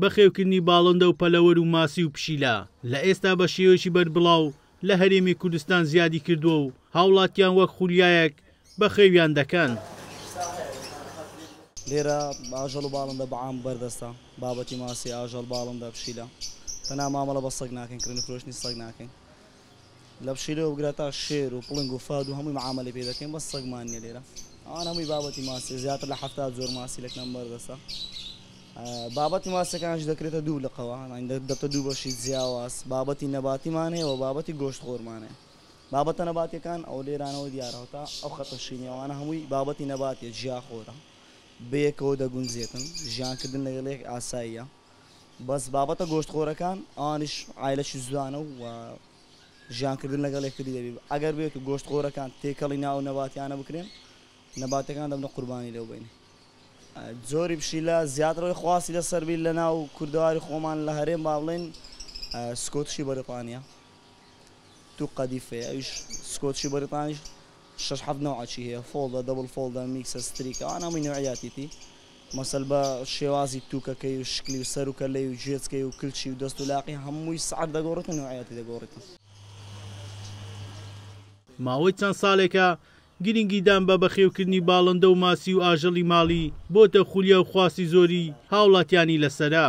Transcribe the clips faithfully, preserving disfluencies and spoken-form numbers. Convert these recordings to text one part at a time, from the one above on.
بەخێوکردنی باڵندە و پەلەوەر و ماسی و پشیلە لە ئێستا بە شێوەیەکی بەربڵاو لە هەرێمی کوردستان زیادی کردووە و هاوڵاتیان وەک خولیایەک بەخێویان دەکەن. لێرە ئاژەڵ و باڵندە بەعام بەردەستە، بابەتی ماسی، ئاژەڵ، باڵندە، پشیلە. تەنها مامەڵە بە سەگ ناکەین، کڕین و فرۆشتنی سەگ ناکەین. لە پشیلەوە بگرە تا شێر و پڵنگ و فاد و هەمووی معامەلەی پێ دەکەین، بەس سەگمان نییە لێرە. ئەوان هەمووی بابەتی ماسی، زیاتر لە حەفتا جۆر ماسی لەکنەم بەردەستە. بابەتی ماسیەکانش دەکرێتە دوو لقەوە، دەبتە دوو بەشی جیاواز. بابەتی نەباتیمان هەیە و بابەتی گۆشتخۆرمان هەیە. بابەتە نەباتیەکان ئەو لێرانەوە دیارەوە تا ئەو خەتە شینیەوانە هەمووی بابەتی نەباتیە، جیاخۆرە، بەیەکەوە دەگونجێتن، ژیانکردن لەگەڵ یەک ئاساییە. بەس بابەتە گۆشتخۆرەکان ئەوانیش عایلەکی زوانە و ژیانکردن لەگەڵ یەکتری دەبی. ئەگەر بێت و گۆشتخۆرەکان تێکەڵی ناو نەباتیانە بکرێن، نەباتەکان دەبنە قوربانی لەو بینی. جۆری پشیلە زیاترەوەی خواسی لەسەر بیر لە ناو کوردەواری خۆمان لە هەرێم با بڵێن سکۆتشی بەریتانیا تو قەدیفەیە، ئەویش سکۆتشی بەریتانیش شەش حەفت نەوعەکی هەیە، فۆڵدە، دەبڵ فۆڵدە، میکسە، ستریکە، ئەوانە هەمووی نەوعیاتیتی. مەسەل بە شێوازی تووکەکەی و شکلی و سەر و کەلەی و گوێچکەی و کلچی و دەست و لاقی هەمووی سعر دەگۆڕێت و نەوعیاتی دەگۆڕێت. ماوەی چەند ساڵێکە گرنگیدان بە بەخێوکردنی باڵندە و ماسی و ئاژەڵی ماڵی بۆتە خولیا و خواستی زۆری هاوڵاتیانی لەسەرە.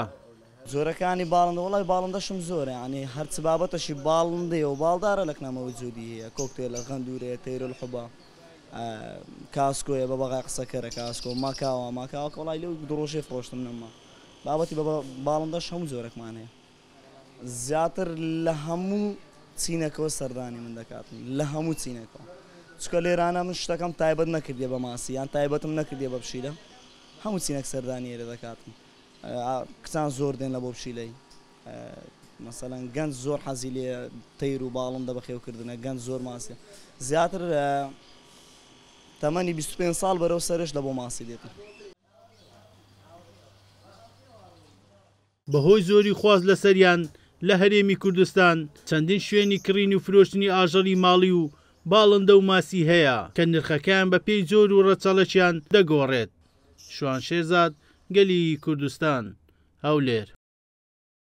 جۆرەکانی باڵندە، وەڵای باڵندەشم زۆرە، یعنی هەرچ بابەتەشی باڵندەیە و باڵدارە لەکنامەوە جودی هەیە، کۆکتێلە، غەندورەیە، تەیرولحوبە، کاسکۆیە، بە بەغای قسەکەرە کاسکۆ، ماکاوە، ماکاوە کە وەڵای لەو دوو ڕۆژەی فرۆشتم نەما. بابەتی بە باڵندەش هەموو جۆرەکمان هەیە. زیاتر لە هەموو چینەکەوە سەردانی من دەکاتن، لە هەموو چینەکەوە، چونکە لێرانە من شتەکەم تایبەت نەکردیە بە ماسی یان تایبەتم نەکردیە بە پشیلە، هەموو چینەک سەردانی ئێرە دەکاتن. کچان زۆر دێن لە بۆ پشیلەی، مەسەلەن گەنج زۆر حەزی لێ تەیر و باڵندە بەخێوکردنە، گەنج زۆر ماسیە. زیاتر تەمەنی بیست و پێنج ساڵ بەرەو سەرش لە بۆ ماسی دێتن. بەهۆی زۆری خواست لەسەریان لە هەرێمی کوردستان چەندین شوێنی کڕین و فرۆشتنی ئاژەڵی ماڵی و باڵندە و ماسی هەیە کە نرخەکەیان بە پێی جۆر و ڕەچەڵەکیان دەگۆڕێت. شوان شێرزاد، گەلی کوردستان، هەولێر.